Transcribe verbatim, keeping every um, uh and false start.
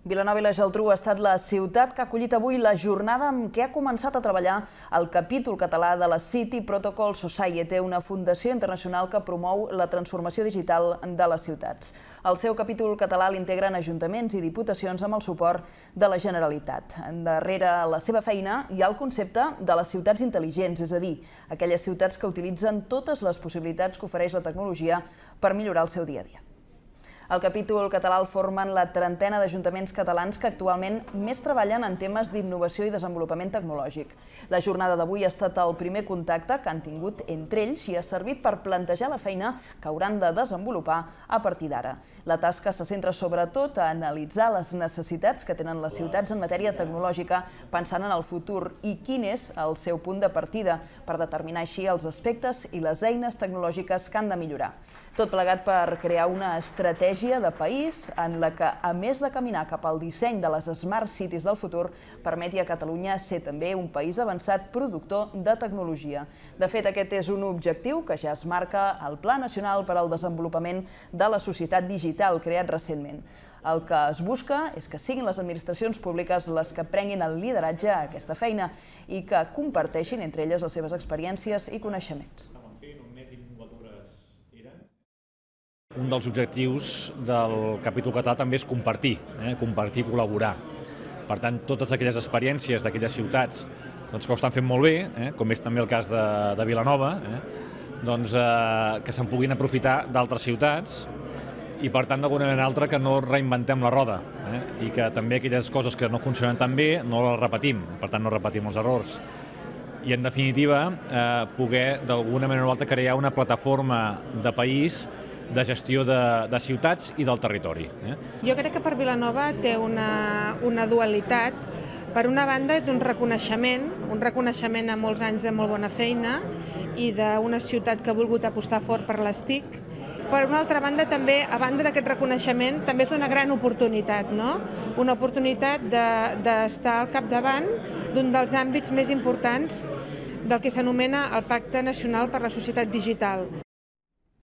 Vilanova i la Geltrú ha estat la ciutat que ha acollit avui la jornada amb què ha començat a treballar el capítol català de la City Protocol Society, una fundació internacional que promou la transformació digital de les ciutats. El seu capítol català l'integren ajuntaments i diputacions amb el suport de la Generalitat. Darrere la seva feina hi ha el concepte de les ciutats intel·ligents, és a dir, aquelles ciutats que utilitzen totes les possibilitats que ofereix la tecnologia per millorar el seu dia a dia. El capítol català el formen la trentena d'ajuntaments catalans que actualment més treballen en temes d'innovació i desenvolupament tecnològic. La jornada d'avui ha estat el primer contacte que han tingut entre ells i ha servit per plantejar la feina que hauran de desenvolupar a partir d'ara. La tasca se centra sobretot a analitzar les necessitats que tenen les ciutats en matèria tecnològica pensant en el futur i quin és el seu punt de partida per determinar així els aspectes i les eines tecnològiques que han de millorar. Tot plegat per crear una estratègia de país en la que, a més de caminar cap al disseny de les Smart Cities del futur, permeti a Catalunya ser també un país avançat productor de tecnologia. De fet, aquest és un objectiu que ja es marca al Pla Nacional per al Desenvolupament de la Societat Digital, creat recentment. El que es busca és que siguin les administracions públiques les que prenguin el lideratge a aquesta feina i que comparteixin entre elles les seves experiències i coneixements. Un dels objectius del capítol català també és compartir, eh? compartir i col·laborar. Per tant, totes aquelles experiències d'aquelles ciutats doncs, que ho estan fent molt bé, eh? com és també el cas de, de Vilanova, eh? doncs, eh, que se'n puguin aprofitar d'altres ciutats i, per tant, d'alguna manera altra que no reinventem la roda eh? i que també aquelles coses que no funcionen tan bé no les repetim, per tant, no repetim els errors. I, en definitiva, eh, poder d'alguna manera o altra crear una plataforma de país de gestió de, de ciutats i del territori. Eh? Jo crec que per Vilanova té una, una dualitat. Per una banda és un reconeixement, un reconeixement a molts anys de molt bona feina i d'una ciutat que ha volgut apostar fort per les T I C. Per una altra banda, també, a banda d'aquest reconeixement, també és una gran oportunitat, no? Una oportunitat d'estar al capdavant d'un dels àmbits més importants del que s'anomena el Pacte Nacional per la Societat Digital.